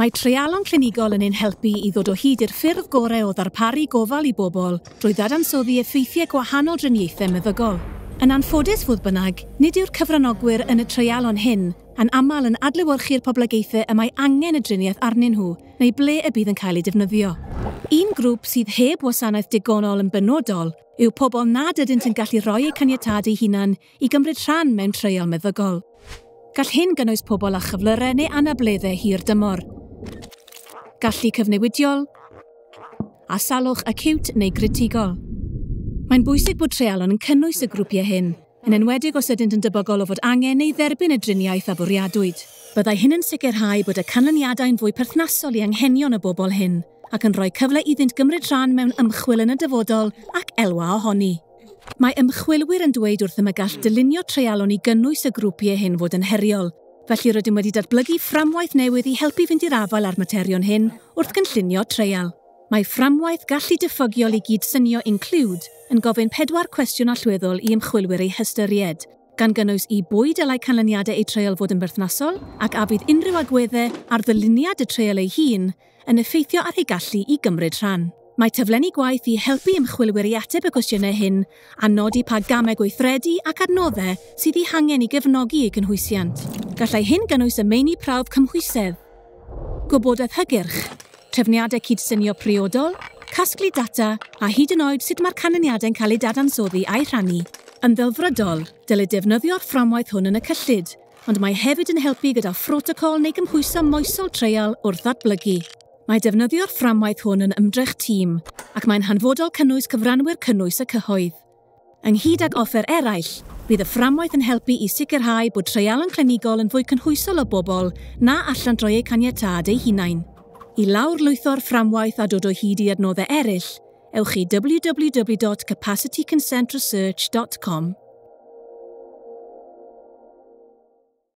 Mae treialon clinigol yn ein helpu i ddod o hyd i'r ffyrdd gorau o ddarparu gofal i bobl drwy ddadansoddi effeithiau gwahanol driniaethau meddygol. Yn anffodus, fodd bynnag, nid yw'r cyfranogwyr yn y treialon hyn yn aml yn adlewyrchu'r poblogaethau y mae angen y driniaeth arnyn nhw neu ble y bydd yn cael ei defnyddio. Un grŵp sydd heb wasanaeth digonol yn benodol yw pobl nad ydynt yn gallu rhoi eu caniatâd eu hunain i gymryd rhan mewn treial meddygol. Gall hyn gynnwys pobl â chyflyrau neu anableddau hir dymor, gallu cyfnewidiol, a salwch acute neu gritigol. Mae'n bwysig bod treialon yn cynnwys y grwpiau hyn, yn enwedig os ydynt yn debygol o fod angen neu dderbyn y driniaeth a fwriadwyd. Byddai hyn yn sicrhau bod y canlyniadau'n fwy perthnasol i anghenion y bobl hyn, ac yn rhoi cyfle iddynt gymryd rhan mewn ymchwil yn y dyfodol ac elwa ohoni. Mae ymchwilwyr yn dweud wrthym y gall dylunio treialon i gynnwys y grwpiau hyn fod yn heriol, felly rydym wedi datblygu fframwaith newydd i helpu fynd i'r afael â'r materion hyn wrth gynllunio treial. Mae fframwaith gallu diffygiol i gydsynio Include yn gofyn 4 cwestiwn allweddol i ymchwilwyr eu hystyried, gan gynnwys i bwy dylai canlyniadau eu treial fod yn berthnasol ac a fydd unrhyw agweddau ar ddyluniad y treial ei hun yn effeithio ar ei gallu i gymryd rhan. Mae taflenni gwaith i helpu ymchwilwyr i ateb y cwestiynau hyn a nodi pa gamau gweithredu ac adnoddau sydd eu hangen i gefnogi eu cynhwysiant. Gallai hyn gynnwys y meini prawf cymhwysedd, gwybodaeth hygyrch, trefniadau cydsynio priodol, casglu data a hyd yn oed sut mae'r canlyniadau'n cael eu dadansoddi a'u rhannu. Yn ddelfrydol, dylid defnyddio'r fframwaith hwn yn y cyllid, ond mae hefyd yn helpu gyda phrotocol neu gymhwyso moesol treial wrth ddatblygu. Mae defnyddio'r fframwaith hwn yn ymdrech tîm, ac mae'n hanfodol cynnwys cyfranwyr cynnwys y cyhoedd. Ynghyd ag offer eraill, bydd y fframwaith yn helpu i sicrhau bod treialon clinigol yn fwy cynhwysol o bobl na allant roi eu caniatâd eu hunain. I lawrlwytho'r fframwaith a dod o hyd i adnoddau eraill, ewch i www.capacityconsentresearch.com.